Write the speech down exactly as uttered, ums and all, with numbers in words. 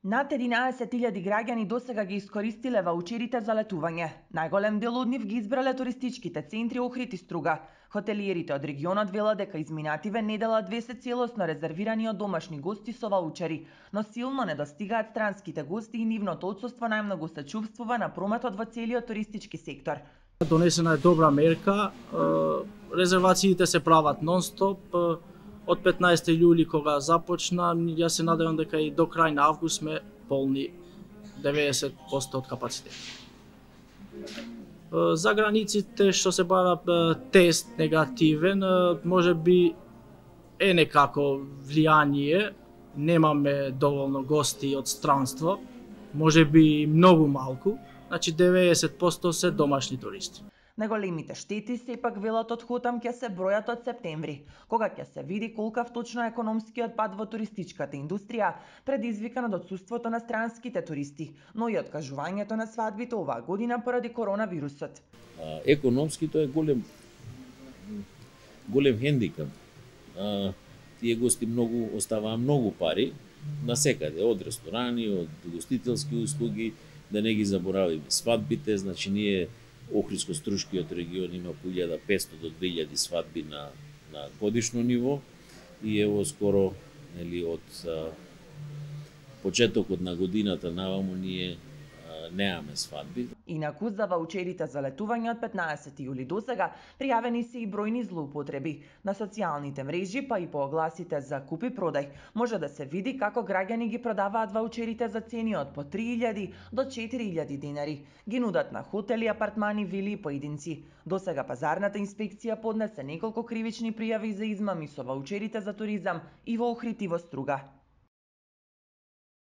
Над единаесет илјади граѓани досега ги искористиле ваучерите за летување. Најголем дел од нив ги избрале туристичките центри Охрид и Струга. Хотелиерите од регионот велат дека изминативе недела две се целосно резервирани од домашни гости со ваучери, но силно недостигаат странските гости и нивното отсуство најмногу се чувствува на прометот во целиот туристички сектор. Донесена е добра мерка, резервациите се прават нон-стоп. Од петнаесети јули кога започна, ја се надевам дека и до крај на август сме полни деветдесет проценти од капацитет. За границите што се бара тест негативен, може би е некако влијание, немаме доволно гости од странство, може би многу малку, значи деветдесет проценти се домашни туристи. Најголемите штети сепак велат од Хотам ќе се бројат од септември, кога ќе се види колкав точно е економскиот пад во туристичката индустрија, предизвикан од отсуството на странските туристи, но и откажувањето на свадбите оваа година поради коронавирусот. Економски тоа е голем голем хендикап. Тие гости многу оставаа многу пари насекаде, од ресторани, од гостителски услуги, да не ги заборавиме свадбите, значи ние Охридско-Струшкиот регион има по илјада и петстотини до две илјади свадби на, на годишно ниво и ево скоро, нели, од а, почетокот на годината наваму ние а, немаме свадби. Инаку за ваучерите за летување од петнаесети јули досега пријавени се и бројни злоупотреби. На социјалните мрежи, па и по огласите за купи-продај, може да се види како граѓани ги продаваат ваучерите за цени од по три илјади до четири илјади денари. Ги нудат на хотели, апартмани, вили и поединци. Досега пазарната инспекција поднесе неколку кривични пријави за измами со ваучерите за туризам и во Охрид и во Струга.